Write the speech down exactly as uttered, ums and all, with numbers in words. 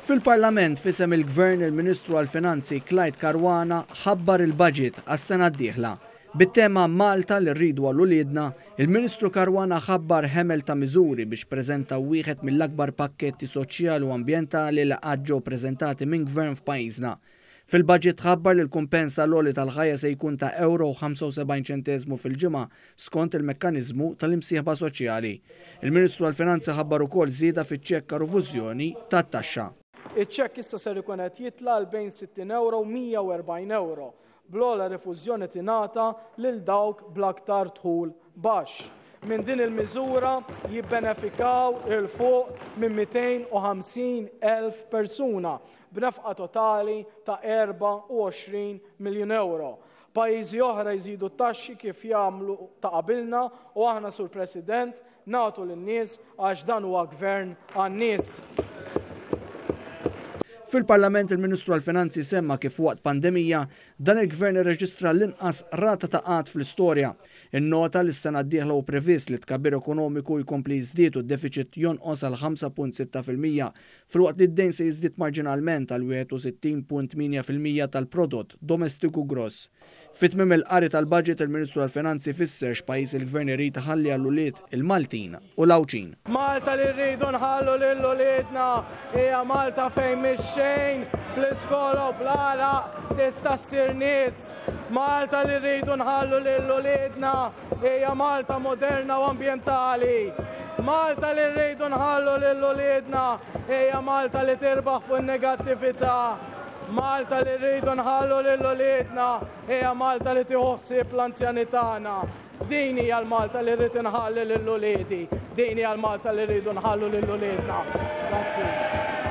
Fil-Parlament, f'isem il-Gvern, il-Ministru għall-Finanzi Clyde Caruana ħabbar il-budget għas-sena d-dieħla. Bit-tema "Malta li rridu għal uliedna", il-Ministru Caruana ħabbar ħemel ta' miżuri biex preżenta wieħed mill-akbar pakketti soċjali u ambjentali li qatt ġew preżentati minn gvern f'pajjiżna. Fil-budget ħabbar li l-kumpens għall-għoli tal-ħajja se jkun ta' euro ħamsa u sebgħin ċentesmu fil-ġimgħa skont il-mekkaniżmu tal-imsieħba soċjali. Il-Ministru għall-Finanzi ħabbar ukoll żieda fiċ-ċekk rifużjoni tat-taxxa. Iċ-ċekk issa ser ikun qed jitla' għal bejn sittin euro u mija u erbgħin euro. Bl-ogħla rifużjoni tingħata lil dawk bl-aktar dħul baxx. Minn din il-miżura jibbenefikaw 'il fuq minn mitejn u ħamsin elf persuna b'nefqa totali ta' erbgħa u għoxrin miljun euro. Pajjiżi oħra jżidu t-taxxi kif jagħmlu ta' qabilna u aħna, Sur President, nagħtu lin-nies għax dan huwa gvern għan-nies. Fil-Parlament, il-Ministru għall-Finanzi semma kif waqt pandemija dan il-gvern irreġistra l-inqas rata ta' qgħad fl-istorja. Innota li s-sena d-dieħla hu previst li tkabbir ekonomiku jkompli jiżdied u d-deficit jonqos għal ħamsa punt sitta fil-mija, filwaqt li d-dejn se jiżdied marġinalment għal wieħed u sittin punt tmienja fil-mija tal-prodott domestiku gross. Fi tmiem il-qari tal-budget, il-Ministru għall-Finanzi fisser x'pajjiż il-gvern irid iħalli għall-ulied il-Maltin u l-Għawdxin. Malta li rridu nħallu lil uliedna hija Malta fejn mix-xejn, bl-iskola u bl-għaraq, tista' ssir nies. Malta li rridu nħallu lil uliedna hija Malta moderna u ambjentali. Malta li rridu nħallu lil uliedna hija Malta li tirbaħ fuq in-negattività. Malta li rridu nħallu lil uliedna hija Malta li tieħu ħsieb l-anzjani tagħna. Din hija l-Malta li rrid inħalli lil uliedi. Din hija l-Malta li rridu nħallu lil uliedna. Grazzi.